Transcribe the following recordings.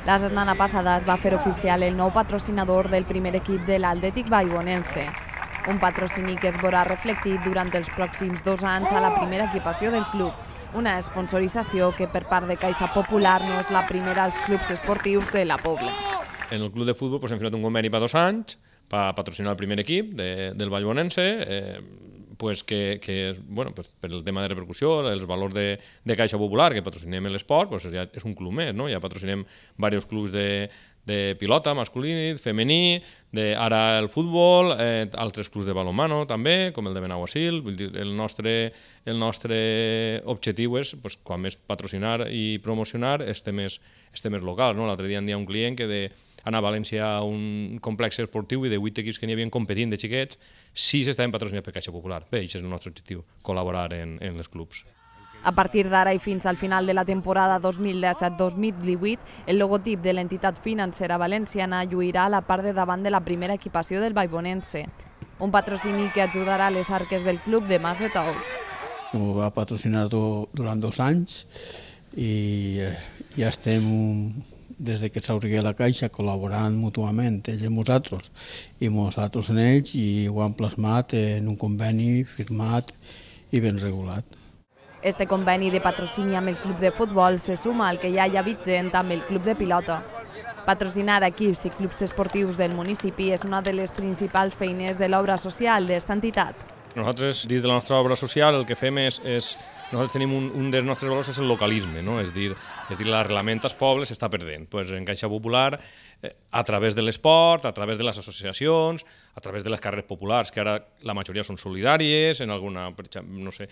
La setmana passada es va fer oficial el nou patrocinador del primer equip de l'Atlètic Vallbonense. Un patrocini que es veurà reflectit durant els pròxims 2 anys a la primera equipació del club. Una sponsorització que per part de Caixa Popular no és la primera als clubs esportius de la Pobla. En el club de futbol hem firmat un conveni per 2 anys per patrocinar el primer equip del Vallbonense, que per el tema de repercussió, els valors de Caixa Popular, que patrocinem l'esport, ja és un club més, ja patrocinem diversos clubs de pilota, masculí, femení, ara el futbol, altres clubs de balonmano també, com el de Benaguasil. El nostre objectiu és, quan més patrocinar i promocionar, este més local. L'altre dia em deia un client que anar a València a un complex esportiu i de 8 equips que n'hi havien competint de xiquets, 6 estaven patrocinats per Caixa Popular. Bé, això és el nostre objectiu, col·laborar en els clubs. A partir d'ara i fins al final de la temporada 2017-2018, el logotip de l'entitat financera valenciana lluirà a la part de davant de la primera equipació del Vallbonense, un patrocini que ajudarà a les arques del club de Mas de Tous. Ho va patrocinar durant 2 anys i ja estem, des que s'obri la Caixa, col·laborant mútuament, ells amb nosaltres i nosaltres en ells, i ho han plasmat en un conveni firmat i ben regulat. Este conveni de patrocini amb el club de futbol se suma al que ja hi ha vigent amb el club de pilota. Patrocinar equips i clubs esportius del municipi és una de les principals feines de l'obra social d'esta entitat. Nosaltres, dins de la nostra obra social, el que fem nosaltres tenim un dels nostres valors és el localisme, és dir, l'arrelament als pobles s'està perdent. En Caixa Popular, a través de l'esport, a través de les associacions, a través de les carreres populars, que ara la majoria són solidàries, en alguna, no sé,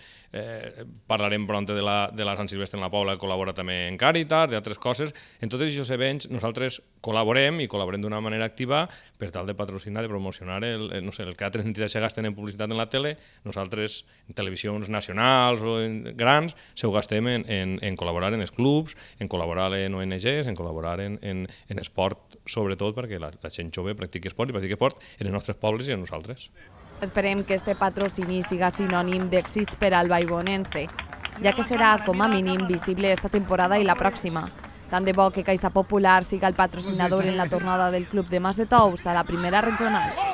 parlarem prompte de la Sant Silvestre en la Pobla, que col·labora també en Càritas, d'altres coses. En tots aquests events nosaltres col·laborem d'una manera activa per tal de patrocinar, de promocionar el que altres entitats se gasten en publicitat en la tele, nosaltres en televisions nacionals o grans se ho gastem en col·laborar en els clubs, en col·laborar en ONGs, en col·laborar en esport, sobretot perquè la gent jove practiqui esport i practiqui esport en els nostres pobles i en nosaltres. Esperem que este patrocini siga sinònim d'èxits per al Vallbonense, ja que serà com a mínim visible esta temporada i la pròxima. Tant de bo que Caixa Popular siga el patrocinador en la tornada del club de Mas de Tous a la primera regional.